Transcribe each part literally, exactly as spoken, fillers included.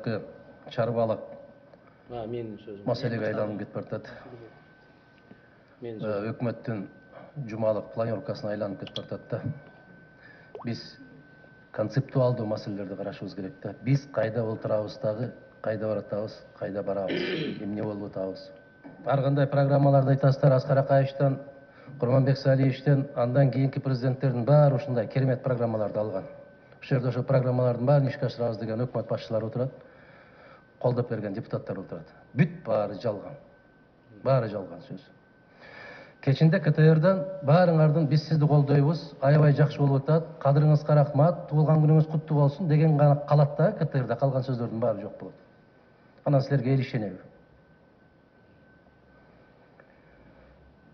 баягы чарбалык менин сөзүм маселеге айланып кетип баратат. Өкмөттүн жумалык планировкасына айланып кетип баратат да. Биз концептуалдуу маселелерди карашыбыз керек да. Биз кайда отурабыз дагы, кайда баратабыз, кайда барабыз, эмне болуп атабыз. Ар кандай программаларды айтасыздар, Аскар Акаевичтен, Курманбек Салиевичтен, андан кийинки президенттердин баары ушундай керемет программаларды алган. Ошол жерде ошол программалардын баарын ишке ашырабыз деген өкмөт башчылары отурат, колдоп берген депутаттар отурат. Бүт баары жалган. Баары жалган сөз. Кечинде КТРдан баарыңардын биз сизди колдойбуз, аябай жакшы болуп атат, кадырыңызга рахмат, туулган күнүңүз куттуу болсун деген гана калат да КТРда, калган сөздөрдүн баары жок болот. Анан силерге эл ишенеби?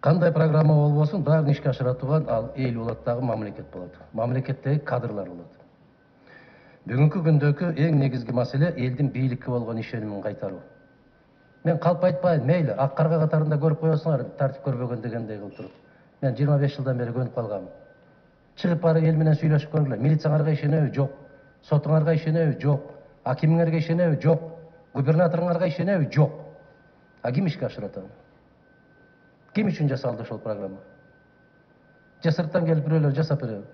Кандай программа болбосун, баарын ишке ашыра турган ал эл болот дагы, мамлекет болот. Мамлекеттеги кадрлар болот. Бүгүнкү күндөгү эң негизги маселе элдин бийликке болгон ишенимин кайтаруу. Мен калп айтпайм, мейли, ак карга катарында көрүп коесуңар, тартип көрбөгөн дегендей кылып туруп. Мен жыйырма беш жылдан бери көнүп калгам. Чыгып барып эл менен сүйлөшүп көргүлө. Милицияңарга ишенеби? Жок. Сотуңарга ишенеби? Жок. Акимиңерге ишенеби? Жок. Губернаторуңарга ишенеби? Жок. А ким ишке ашырат аны? Ким үчүн жасалды ошол программа? Же сырттан келип бирөөлөр жасап береби?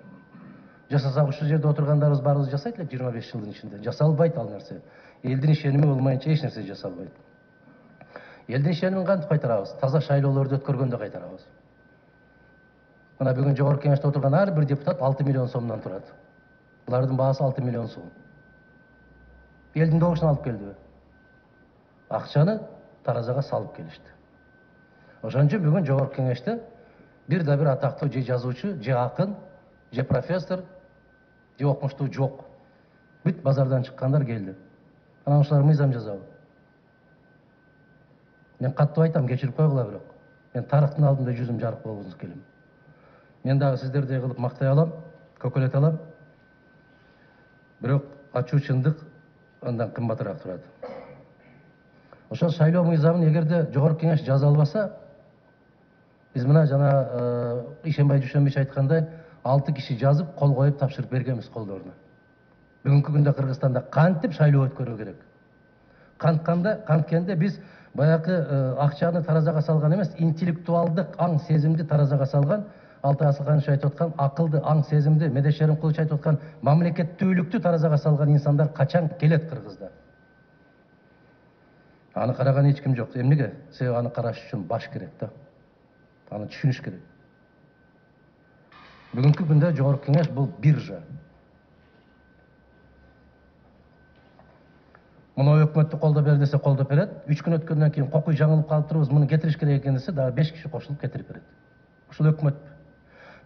Жасасак ушул жерде отургандарыбыз баарыбыз жасайт элек жыйырма беш жылдын ичинде. Жасалбайт ал нерсе. Элдин ишеними болмайынча эч нерсе жасалбайт. Элдин ишенимин кантип кайтарабыз? Таза шайлоолорду өткөргөндө кайтарабыз. Мына бүгүн жогорку кеңеште отурган ар бир депутат алты миллион сомдон турат. Булардын баасы алты миллион сом. Элдин добушун алып келдиби? Акчаны таразага салып келишти. Ошон үчүн бүгүн жогорку кеңеште бир да бир атактуу же жазуучу, же акын, же профессор, же окумуштуу жок. Бүт базардан чыккандар келди. Анан ушулар мыйзам жазабы? Мен каттуу айтам, кечирип койгула бирок. Мен тарыхтын алдында жүзүм жарык болгусу келем. Мен дагы сиздердей кылып мактай алам, көкөлөт алам. Бирок ачуу чындык андан кымбатыраак турат. Ошол шайлоо мыйзамын эгерде жогорку кеңеш жаза албаса, биз мына жана Ишенбай Дүйшөнбич айткандай, алты киши жазып, кол коюп тапшырып бергенбиз колдоруна. Бүгүнкү күндө Кыргызстанда кантип шайлоо өткөрүү керек? Кантканда, канткенде биз баягы акчаны таразага салган эмес, интеллектуалдык аң сезимди таразага салган, Алтай Асылханович айтып аткан акылды, аң сезимди, Медеш Шеримкулович айтып аткан мамлекеттүүлүктү таразага салган инсандар качан келет Кыргызда? Аны караган эч ким жок. Эмнеге? Себеби аны караш үчүн баш керек да. Аны түшүнүш керек. Бүгүнкү күндө жогорку кеңеш бул биржа. Муну өкмөттү колдоп бер десе колдоп берет. үч күн өткөндөн кийин кокуй жаңылып калып турубуз, муну кетириш керек экен десе, дагы беш киши кошулуп кетирип берет. Ушул өкмөт.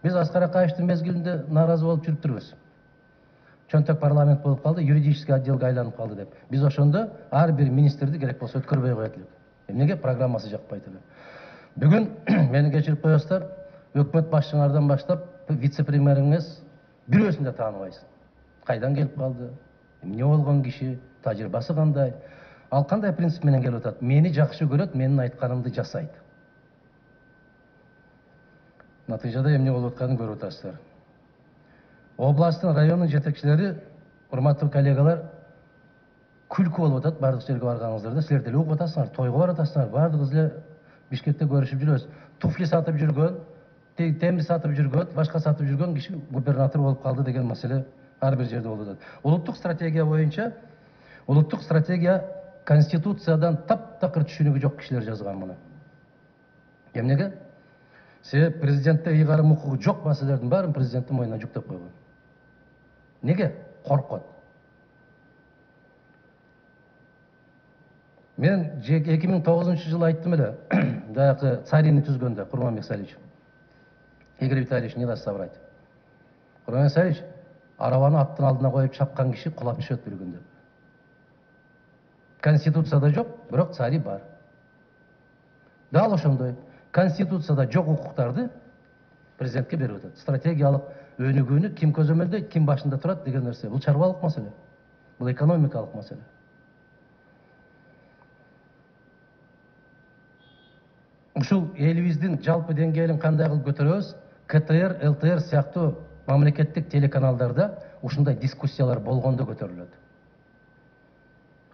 Биз Аскар Акаевичтин мезгилинде нааразы болуп жүрүптүрбүз. Чөнтөк парламент болуп калды, юридический отделге айланып калды деп. Биз ошондо ар бир министрди керек болсо өткөрбөй коет элек. Эмнеге? Программасы жакпайт эле. Бүгүн мени кечирип коесуздар, өкмөт башчыңардан баштап вице-премьериңиз бирөөсүн да тааныбайсың. Кайдан келип калды? Эмне болгон киши? Тажрыйбасы кандай? Ал кандай принцип менен келип атат? Мени жакшы көрөт, менин айтканымды жасайт. Натыйжада эмне болуп атканын көрүп атасыздар. Областтын, райондун жетекчилери, урматтуу коллегалар, күлкү болуп атат бардык жерге барганыңыздарда. Силер деле угуп атасыңар, тойго барып атасыңар, бардыгыбыз эле Бишкекте көрүшүп жүрөбүз. Туфли сатып жүргөн, темир сатып жүргөн, башка сатып жүргөн киши губернатор болуп калды деген маселе ар бир жерде болуп атат. Улуттук стратегия боюнча, улуттук стратегия Конституциядан таптакыр түшүнүгү жок кишилер жазган муну. Эмнеге? Себеп президентте ыйгарым укугу жок маселелердин баарын президенттин мойнуна жүктөп койгон. Неге? Коркот. Мен эки миң тогузунчу жылы айттым эле, баягы Царини түзгөндө, Курманбек Салиевич. Игорь Витальевич не даст соврать. Курманбек Салиевич арабаны аттын алдына коюп чапкан киши кулап түшөт бир күндө. Конституцияда жок, бирок цари бар. Дал ошондой. Конституцияда жок укуктарды президентке берип атат. Стратегиялык өнүгүүнү ким көзөмөлдөйт, ким башында турат деген нерсе. Бул чарбалык маселе. Бул экономикалык маселе. Ушул элибиздин жалпы деңгээлин кандай кылып көтөрөбүз? КТР, ЛТР сыяктуу мамлекеттик телеканалдарда ушундай дискуссиялар болгондо көтөрүлөт.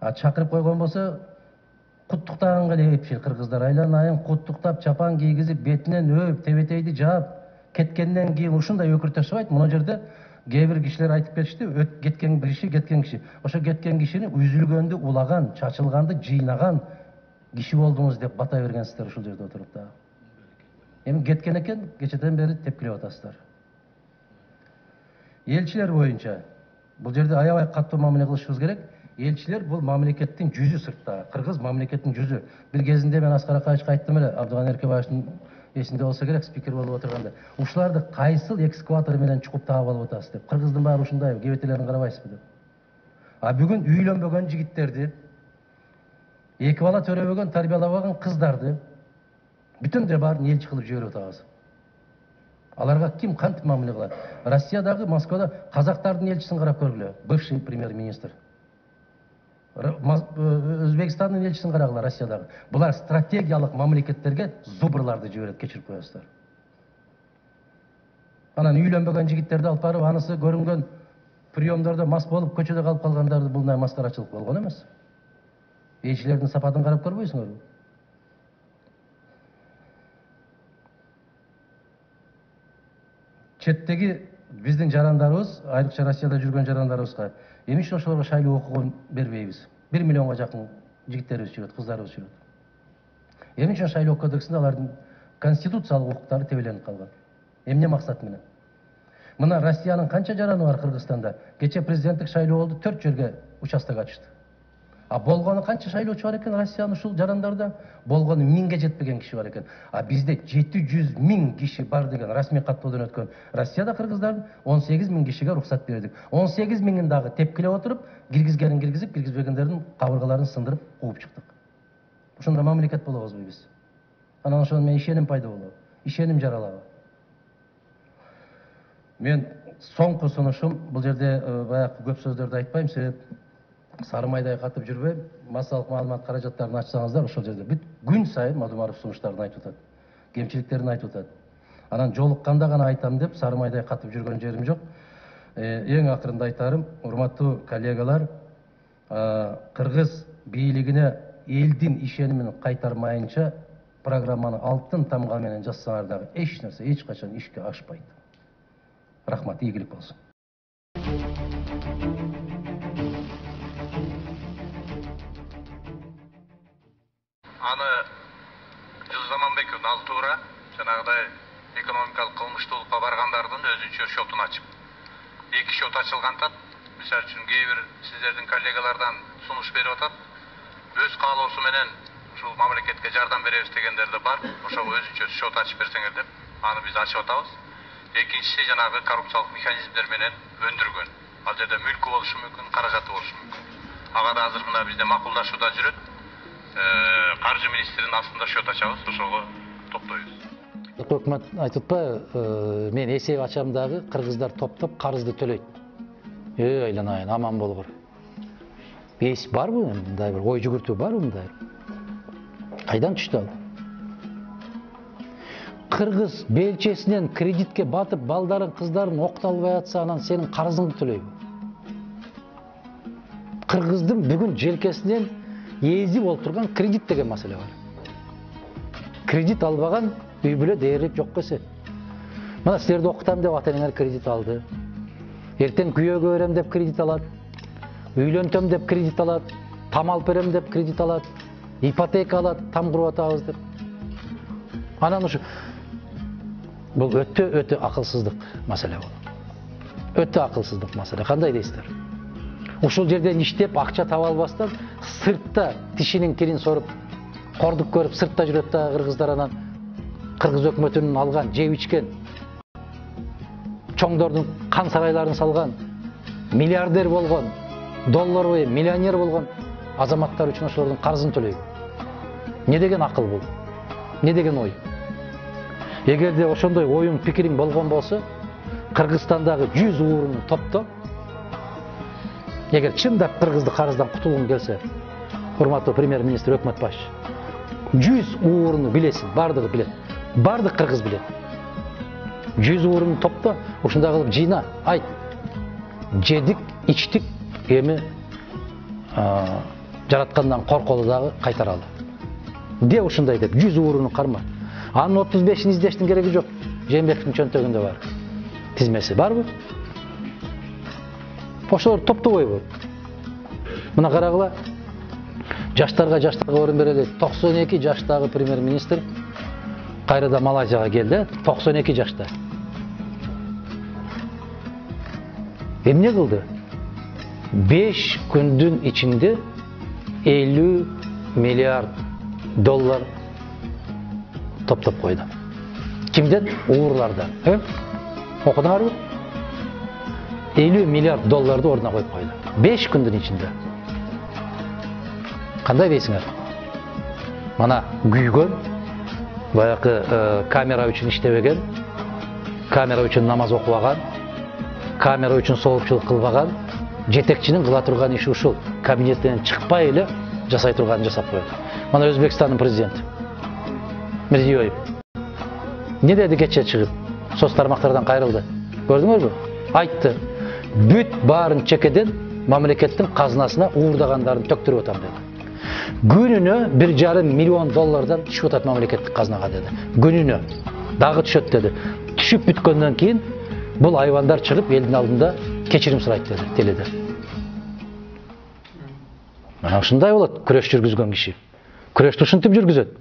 А чакырып койгон болсо куттуктаганга эле кепчил кыргыздар айлан айын куттуктап чапан кийгизип бетинен өп тебетейди жаап кеткенден кийин ушундай өкүртөшүп мына жерде кээ бир кишилер айтып кетишти, кеткен бир киши кеткен киши ошо кеткен кишини үзүлгөндү улаган чачылганды жыйнаган киши болдуңуз деп бата бергенсиздер ушул жерде отуруп да. Эми кеткен экен кечеден бери тепкилеп атасыздар. Элчилер боюнча бул жерде аябай катуу мамиле кылышыбыз керек. Элчилер бул мамлекеттин жүзү сыртта, кыргыз мамлекеттин жүзү. Бир кезинде мен Аскар Акаевичке айттым эле, Абдыган Эркебаевдин эсинде болсо керек, спикер болуп отурганда. Ушуларды кайсыл экскаватор менен чукуп таап алып атасыз деп. Кыргыздын баары ушундай, кебетелерин карабайсызбы деп. А бүгүн үйлөнбөгөн жигиттерди, эки бала төрөбөгөн, тарбиялабаган кыздарды бүтүндөй баарын элчи кылып жиберип атабыз. Аларга ким кантип мамиле кылат? Россиядагы Москвада казактардын элчисин карап көргүлө, бывший премьер-министр. Өзбекстандын элчисин карагыла Россиядагы. Булар стратегиялык мамлекеттерге зубрларды жиберет, кечирип коесуздар. Анан үйлөнбөгөн жигиттерди алып барып, анысы көрүнгөн приемдордо мас болуп көчөдө калып калгандарды булдай маскарачылык болгон эмес. Элчилердин сапатын карап көрбөйсүңөрбү? Четтеги биздин жарандарыбыз, айрыкча Россияда жүргөн жарандарыбызга эмне үчүн ошолорго шайлоо укугун бербейбиз? бир миллионго жакын жигиттерибиз жүрөт, кыздарыбыз жүрөт. Эмне үчүн шайлоо кодексинде алардын конституциялык укуктары тебеленип калган? Эмне максат менен? Мына Россиянын канча жараны бар Кыргызстанда? Кече президенттик шайлоо болду, төрт жерге участок ачышты. А болгону канча шайлоочу бар экен Россиянын ушул жарандарда? Болгону миңге жетпеген киши бар экен. А бизде жети жүз миң киши бар деген расмий каттоодон өткөн. Россияда кыргыздардын он сегиз миң кишиге рухсат бердик. он сегиз миңин дагы тепкилеп отуруп, киргизгенин киргизип, киргизбегендердин кабыргаларын сындырып кууп чыктык. Ошондой мамлекет болобузбу биз? Анан ошондон мен ишеним пайда болобу? Ишеним жаралабы? Мен соңку сунушум, бул жерде баягы көп сөздөрдү айтпайм, себеп сары майдай катып жүрбөйм. Массалык маалымат каражаттарын ачсаңыздар, ошол жерде бүт күн сайын Мадумаров сунуштарын айтып атат. Кемчиликтерин айтып атат. Анан жолукканда гана айтам деп сары майдай катып жүргөн жерим жок. Эң акырында айтарым, урматтуу коллегалар, кыргыз бийлигине элдин ишенимин кайтармайынча программаны алтын тамга менен жазсаңар дагы эч нерсе эч качан ишке ашпайт. Рахмат, ийгилик болсун. Аны Жылы Заманбеков ал туура жанагыдай экономикалык кылмыштуулукка баргандардын өзүнчө шотун ачып. Эки шот ачылгантат. Мисалы үчүн кээ бир сиздердин коллегалардан сунуш берип атат. Өз каалоосу менен ушул мамлекетке жардам беребиз дегендер да бар. Ошого өзүнчө шот ачып берсеңер деп, аны биз ачып атабыз. Экинчиси жанагы коррупциялык механизмдер менен өндүргөн. Ал жерде мүлкү болушу мүмкүн, каражаты болушу мүмкүн. Ага да азыр мына бизде макулдашууда жүрөт. Каржы министринин астында шот ачабыз, ошого топтойбуз. Өкмөт айтып атпайбы, мен эсеп ачам дагы кыргыздар топтоп карызды төлөйт. Эй, айланайын, аман болгур. Эс барбы? Мындай бир ой жүгүртүү барбы мындай? Кайдан түштү ал? Кыргыз белчесинен кредитке батып, балдарын, кыздарын окталбай атса, анан сенин карызыңды төлөйбү? Кыргыздын бүгүн желкесинен езип олтурган кредит деген маселе бар. Кредит албаган үй бүлө дээрлик жок эсе. Мына силерди окутам деп ата-энелер кредит алды. Эртең күйөөгө берем деп кредит алат. Үйлөнтөм деп кредит алат. Там алып берем деп кредит алат. Ипотека алат, там куруп атабыз деп. Анан ушу бул өтө өтө акылсыздык маселе бул. Өтө акылсыздык маселе. Кандай дейсиздер? Ушул жерден иштеп акча таба албастан сыртта тишинин кирин соруп, кордук көрүп сыртта жүрөт да кыргыздар, анан кыргыз өкмөтүнүн алган, жеп ичкен, чоңдордун кан сарайларын салган, миллиардер болгон, доллар бою миллионер болгон азаматтар үчүн ошолордун карызын төлөйбү? Не деген акыл бул? Не деген ой? Эгерде ошондой оюң, пикириң болгон болсо, Кыргызстандагы жүз ууруну топто. Эгер чындап кыргызды карыздан кутулгуң келсе, урматтуу премьер-министр, өкмөт башчы, жүз ууруну билесиң, бардыгы билет. Бардык кыргыз билет. жүз ууруну топто, ушундай кылып жыйна, айт. Жедик, ичтик, эми жараткандан корколу дагы кайтаралы. Де ушундай деп жүз ууруну карма. Анын отуз бешин издештин кереги жок. Жээнбековдун чөнтөгүндө бар. Тизмеси барбы? Ошолор топтогойбу. Мына карагыла. Жаштарга жаштарга орун берели. токсон эки жаштагы премьер-министр кайрада Малайзияга келди. токсон эки жашта. Эмне кылды? беш күндүн ичинде элүү миллиард доллар топтоп койду. Кимден? Уурлардан. Э? Окудуңарбы? элүү миллиард долларды ордуна коюп койду. беш күндүн ичинде. Кандай дейсиңер? Мана күйгөн, баягы камера үчүн иштебеген, камера үчүн намаз окубаган, камера үчүн соопчулук кылбаган, жетекчинин кыла турган иши ушул. Кабинеттен чыкпай эле жасай турганын жасап койду. Мана Өзбекстандын президенти Мирзиёев не деди кече чыгып? Соц тармактардан кайрылды. Көрдүңөрбү? Айтты. Бүт баарын чекеден мамлекеттин казынасына уурдагандарын төктүрүп атам деди. Күнүнө бир жарым миллион доллардан түшүп атат мамлекеттик казынага деди. Күнүнө дагы түшөт деди. Түшүп бүткөндөн кийин бул айвандар чыгып элдин алдында кечирим сурайт деди теледе. Мына ушундай болот күрөш жүргүзгөн киши. Күрөштү ушинтип жүргүзөт.